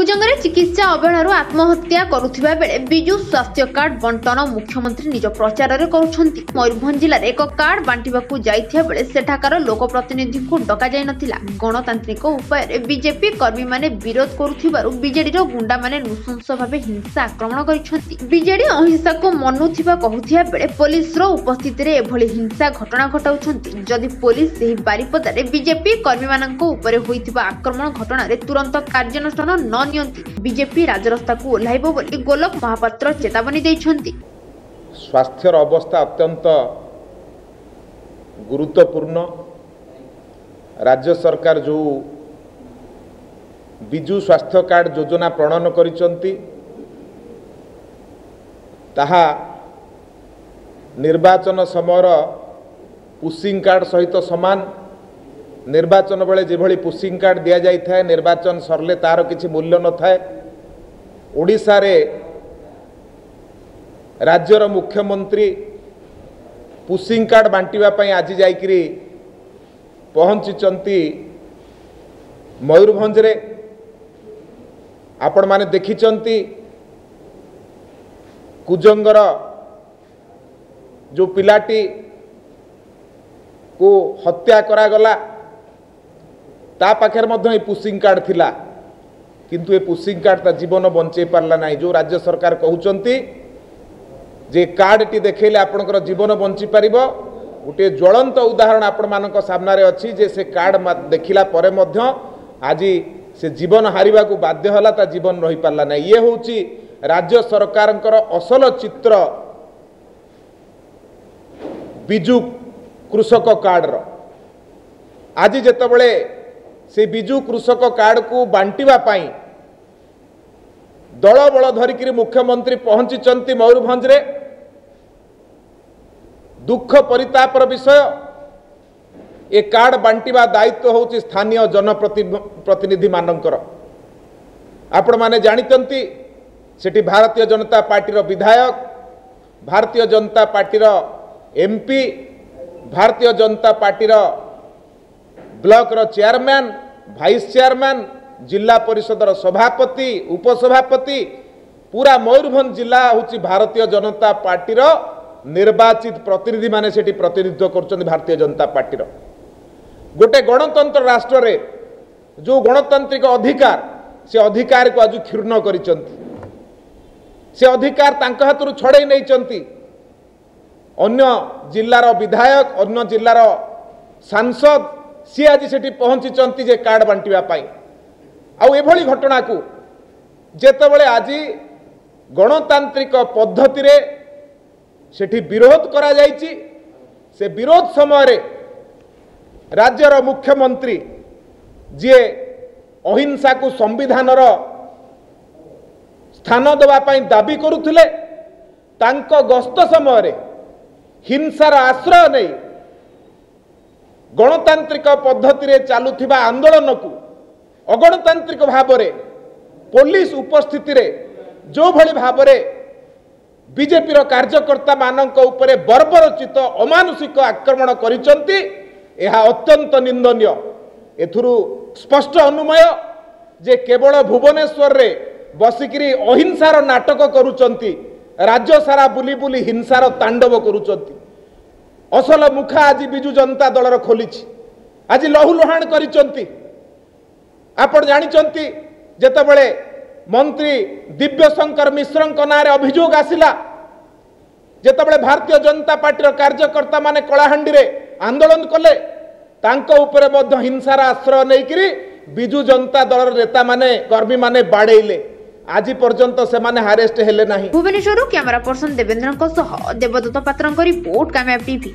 କୁଜଙ୍ଗରେ ଚିକିତ୍ସା ଅବହେଳାରୁ ଆତ୍ମହତ୍ୟା କରୁଥିବା ବେଳେ ବିଜୁ ସ୍ୱାସ୍ଥ୍ୟ କାର୍ଡ ବଣ୍ଟନ ମୁଖ୍ୟମନ୍ତ୍ରୀ ନିଜ ପ୍ରଚାରରେ କରୁଛନ୍ତି। ମୟୂରଭଞ୍ଜ ଜିଲ୍ଲାରେ ଏକ କାର୍ଡ ବାଣ୍ଟିବାକୁ ଯାଇଥିବା ବେଳେ ସେଠାକାର ଲୋକପ୍ରତିନିଧିଙ୍କୁ ଡକାଯାଇ ନଥିଲା। ଗଣତାନ୍ତ୍ରିକ ଉପାୟରେ ବିଜେପି କର୍ମୀମାନେ ବିରୋଧ କରୁଥିବାରୁ ବିଜେଡିର ଗୁଣ୍ଡାମାନେ ନୃଶଂସ ଭାବେ ହିଂସା ଆକ୍ରମଣ କରିଛନ୍ତି। ବିଜେଡି ଅହିଂସାକୁ ମନୁଥିବା କହୁଥିବା ବେଳେ ପୋଲିସର ଉପସ୍ଥିତିରେ ଏଭଳି ହିଂସା ଘଟଣା ଘଟାଉଛନ୍ତି। ଯଦି ପୋଲିସ ସେହି ବାରିପଦାରେ ବିଜେପି କର୍ମୀମାନଙ୍କ ଉପରେ ହୋଇଥିବା ଆକ୍ରମଣ ଘଟଣାରେ ତୁରନ୍ତ କାର୍ଯ୍ୟାନୁଷ୍ଠାନ ନ ନିଅନ୍ତି, ବିଜେପି ରାଜରାସ୍ତାକୁ ଓହ୍ଲାଇବ ବୋଲି ଗୋଲକ ମହାପାତ୍ର ଚେତାବନୀ ଦେଇଛନ୍ତି। ସ୍ୱାସ୍ଥ୍ୟର ଅବସ୍ଥା ଅତ୍ୟନ୍ତ ଗୁରୁତ୍ୱପୂର୍ଣ୍ଣ। ରାଜ୍ୟ ସରକାର ଯେଉଁ ବିଜୁ ସ୍ୱାସ୍ଥ୍ୟ କାର୍ଡ଼ ଯୋଜନା ପ୍ରଣୟନ କରିଛନ୍ତି, ତାହା ନିର୍ବାଚନ ସମୟର ପୁସିଂ କାର୍ଡ଼ ସହିତ ସମାନ। ନିର୍ବାଚନ ବେଳେ ଯେଭଳି ପୁସିଂ କାର୍ଡ଼ ଦିଆଯାଇଥାଏ, ନିର୍ବାଚନ ସରିଲେ ତାର କିଛି ମୂଲ୍ୟ ନଥାଏ। ଓଡ଼ିଶାରେ ରାଜ୍ୟର ମୁଖ୍ୟମନ୍ତ୍ରୀ ପୁସିଂ କାର୍ଡ଼ ବାଣ୍ଟିବା ପାଇଁ ଆଜି ଯାଇକରି ପହଞ୍ଚିଛନ୍ତି ମୟୂରଭଞ୍ଜରେ। ଆପଣମାନେ ଦେଖିଛନ୍ତି, କୁଜଙ୍ଗର ଯେଉଁ ପିଲାଟିକୁ ହତ୍ୟା କରାଗଲା, ତା ପାଖରେ ମଧ୍ୟ ଏ ପୁସିଂ କାର୍ଡ଼ ଥିଲା, କିନ୍ତୁ ଏ ପୁସିଂ କାର୍ଡ଼ ତା ଜୀବନ ବଞ୍ଚେଇ ପାରିଲା ନାହିଁ। ଯେଉଁ ରାଜ୍ୟ ସରକାର କହୁଛନ୍ତି ଯେ କାର୍ଡ଼ଟି ଦେଖେଇଲେ ଆପଣଙ୍କର ଜୀବନ ବଞ୍ଚିପାରିବ, ଗୋଟିଏ ଜ୍ୱଳନ୍ତ ଉଦାହରଣ ଆପଣମାନଙ୍କ ସାମ୍ନାରେ ଅଛି ଯେ ସେ କାର୍ଡ଼ ଦେଖିଲା ପରେ ମଧ୍ୟ ଆଜି ସେ ଜୀବନ ହାରିବାକୁ ବାଧ୍ୟ ହେଲା, ତା ଜୀବନ ରହିପାରିଲା ନାହିଁ। ଇଏ ହେଉଛି ରାଜ୍ୟ ସରକାରଙ୍କର ଅସଲ ଚିତ୍ର ବିଜୁ କୃଷକ କାର୍ଡ଼ର। ଆଜି ଯେତେବେଳେ ସେ ବିଜୁ କୃଷକ କାର୍ଡ଼କୁ ବାଣ୍ଟିବା ପାଇଁ ଦଳ ବଳ ଧରିକିରି ମୁଖ୍ୟମନ୍ତ୍ରୀ ପହଞ୍ଚିଛନ୍ତି ମୟୂରଭଞ୍ଜରେ, ଦୁଃଖ ପରିତାପର ବିଷୟ, ଏ କାର୍ଡ଼ ବାଣ୍ଟିବା ଦାୟିତ୍ୱ ହେଉଛି ସ୍ଥାନୀୟ ଜନପ୍ରତିନିଧିମାନଙ୍କର। ଆପଣମାନେ ଜାଣିଛନ୍ତି, ସେଠି ଭାରତୀୟ ଜନତା ପାର୍ଟିର ବିଧାୟକ, ଭାରତୀୟ ଜନତା ପାର୍ଟିର ଏମ୍ପି, ଭାରତୀୟ ଜନତା ପାର୍ଟିର ବ୍ଲକର ଚେୟାରମ୍ୟାନ୍, ଭାଇସ୍ ଚେୟାରମ୍ୟାନ୍, ଜିଲ୍ଲା ପରିଷଦର ସଭାପତି, ଉପସଭାପତି, ପୁରା ମୟୂରଭଞ୍ଜ ଜିଲ୍ଲା ହେଉଛି ଭାରତୀୟ ଜନତା ପାର୍ଟିର ନିର୍ବାଚିତ ପ୍ରତିନିଧିମାନେ ସେଠି ପ୍ରତିନିଧିତ୍ୱ କରୁଛନ୍ତି ଭାରତୀୟ ଜନତା ପାର୍ଟିର। ଗୋଟେ ଗଣତନ୍ତ୍ର ରାଷ୍ଟ୍ରରେ ଯେଉଁ ଗଣତାନ୍ତ୍ରିକ ଅଧିକାର, ସେ ଅଧିକାରକୁ ଆଜି କ୍ଷୁଣ୍ଣ କରିଛନ୍ତି, ସେ ଅଧିକାର ତାଙ୍କ ହାତରୁ ଛଡ଼େଇ ନେଇଛନ୍ତି। ଅନ୍ୟ ଜିଲ୍ଲାର ବିଧାୟକ, ଅନ୍ୟ ଜିଲ୍ଲାର ସାଂସଦ ସିଏ ଆଜି ସେଠି ପହଞ୍ଚିଛନ୍ତି ଯେ କାର୍ଡ଼ ବାଣ୍ଟିବା ପାଇଁ। ଆଉ ଏଭଳି ଘଟଣାକୁ ଯେତେବେଳେ ଆଜି ଗଣତାନ୍ତ୍ରିକ ପଦ୍ଧତିରେ ସେଠି ବିରୋଧ କରାଯାଇଛି, ସେ ବିରୋଧ ସମୟରେ ରାଜ୍ୟର ମୁଖ୍ୟମନ୍ତ୍ରୀ, ଯିଏ ଅହିଂସାକୁ ସମ୍ବିଧାନର ସ୍ଥାନ ଦେବା ପାଇଁ ଦାବି କରୁଥିଲେ, ତାଙ୍କ ଗସ୍ତ ସମୟରେ ହିଂସାର ଆଶ୍ରୟ ନେଇ ଗଣତାନ୍ତ୍ରିକ ପଦ୍ଧତିରେ ଚାଲୁଥିବା ଆନ୍ଦୋଳନକୁ ଅଗଣତାନ୍ତ୍ରିକ ଭାବରେ ପୋଲିସ ଉପସ୍ଥିତିରେ ଯେଉଁଭଳି ଭାବରେ ବିଜେପିର କାର୍ଯ୍ୟକର୍ତ୍ତାମାନଙ୍କ ଉପରେ ବର୍ବରଚିତ ଅମାନୁଷିକ ଆକ୍ରମଣ କରିଛନ୍ତି, ଏହା ଅତ୍ୟନ୍ତ ନିନ୍ଦନୀୟ। ଏଥିରୁ ସ୍ପଷ୍ଟ ଅନୁମୟ ଯେ କେବଳ ଭୁବନେଶ୍ୱରରେ ବସିକିରି ଅହିଂସାର ନାଟକ କରୁଛନ୍ତି, ରାଜ୍ୟ ସାରା ବୁଲି ବୁଲି ହିଂସାର ତାଣ୍ଡବ କରୁଛନ୍ତି। ଅସଲ ମୁଖା ଆଜି ବିଜୁ ଜନତା ଦଳର ଖୋଲିଛି, ଆଜି ଲହୁଲୁହାଣ କରିଛନ୍ତି। ଆପଣ ଜାଣିଛନ୍ତି, ଯେତେବେଳେ ମନ୍ତ୍ରୀ ଦିବ୍ୟଶଙ୍କର ମିଶ୍ରଙ୍କ ନାଁରେ ଅଭିଯୋଗ ଆସିଲା, ଯେତେବେଳେ ଭାରତୀୟ ଜନତା ପାର୍ଟିର କାର୍ଯ୍ୟକର୍ତ୍ତାମାନେ କଳାହାଣ୍ଡିରେ ଆନ୍ଦୋଳନ କଲେ, ତାଙ୍କ ଉପରେ ମଧ୍ୟ ହିଂସାର ଆଶ୍ରୟ ନେଇକରି ବିଜୁ ଜନତା ଦଳର ନେତାମାନେ, କର୍ମୀମାନେ ବାଡ଼େଇଲେ। ଆଜି ପର୍ଯ୍ୟନ୍ତ ସେମାନେ ଆରେଷ୍ଟ ହେଲେ ନାହିଁ। ଭୁବନେଶ୍ୱରରୁ କ୍ୟାମେରା ପର୍ସନ ଦେବେନ୍ଦ୍ରଙ୍କ ସହ ଦେବଦତ୍ତ ପାତ୍ରଙ୍କ ରିପୋର୍ଟ, କାମ୍ୟାବ ଟିଭି।